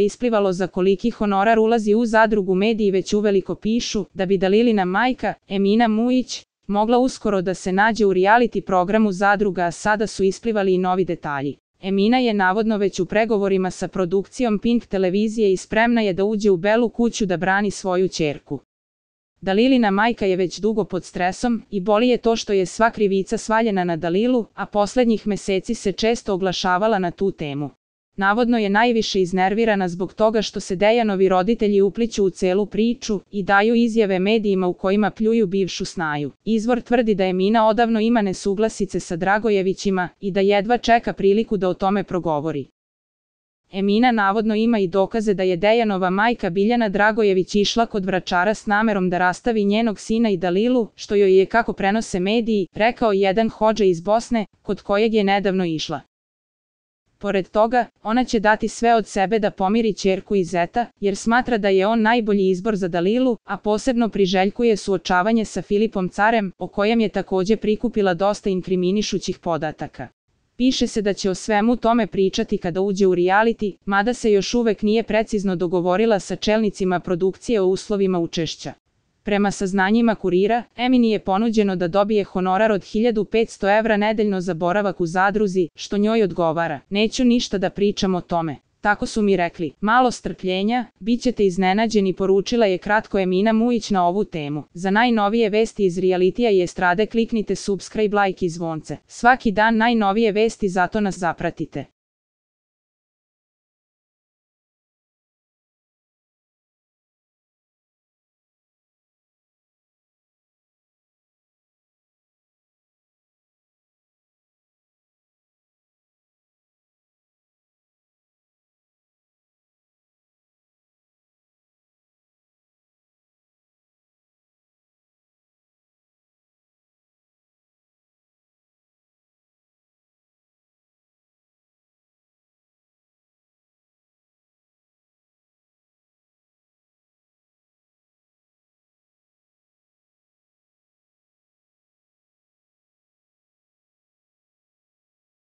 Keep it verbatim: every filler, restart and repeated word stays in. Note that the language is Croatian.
isplivalo za koliki honorar ulazi u zadrugu, mediji već uveliko pišu da bi Dalilina majka, Emina Mujić, mogla uskoro da se nađe u reality programu Zadruga, a sada su isplivali i novi detalji. Emina je navodno već u pregovorima sa produkcijom Pink televizije i spremna je da uđe u Belu kuću da brani svoju ćerku. Dalilina majka je već dugo pod stresom i boli je to što je sva krivica svaljena na Dalilu, a poslednjih meseci se često oglašavala na tu temu. Navodno je najviše iznervirana zbog toga što se Dejanovi roditelji upliću u celu priču i daju izjave medijima u kojima pljuju bivšu snaju. Izvor tvrdi da Emina odavno ima nesuglasice sa Dragojevićima i da jedva čeka priliku da o tome progovori. Emina navodno ima i dokaze da je Dejanova majka Biljana Dragojević išla kod vračara s namerom da rastavi njenog sina i Dalilu, što joj je, kako prenose mediji, rekao jedan hodža iz Bosne, kod kojeg je nedavno išla. Pored toga, ona će dati sve od sebe da pomiri ćerku i zeta, jer smatra da je on najbolji izbor za Dalilu, a posebno priželjkuje suočavanje sa Filipom Carem, o kojem je takođe prikupila dosta inkriminišućih podataka. Piše se da će o svemu tome pričati kada uđe u reality, mada se još uvek nije precizno dogovorila sa čelnicima produkcije o uslovima učešća. Prema saznanjima Kurira, Emini je ponuđeno da dobije honorar od hiljadu petsto evra nedeljno za boravak u zadruzi, što njoj odgovara. Neću ništa da pričam o tome. Tako su mi rekli. Malo strpljenja, bit ćete iznenađeni, poručila je kratko Emina Mujić na ovu temu. Za najnovije vesti iz realitija i estrade kliknite subscribe, like i zvonce. Svaki dan najnovije vesti, zato nas zapratite.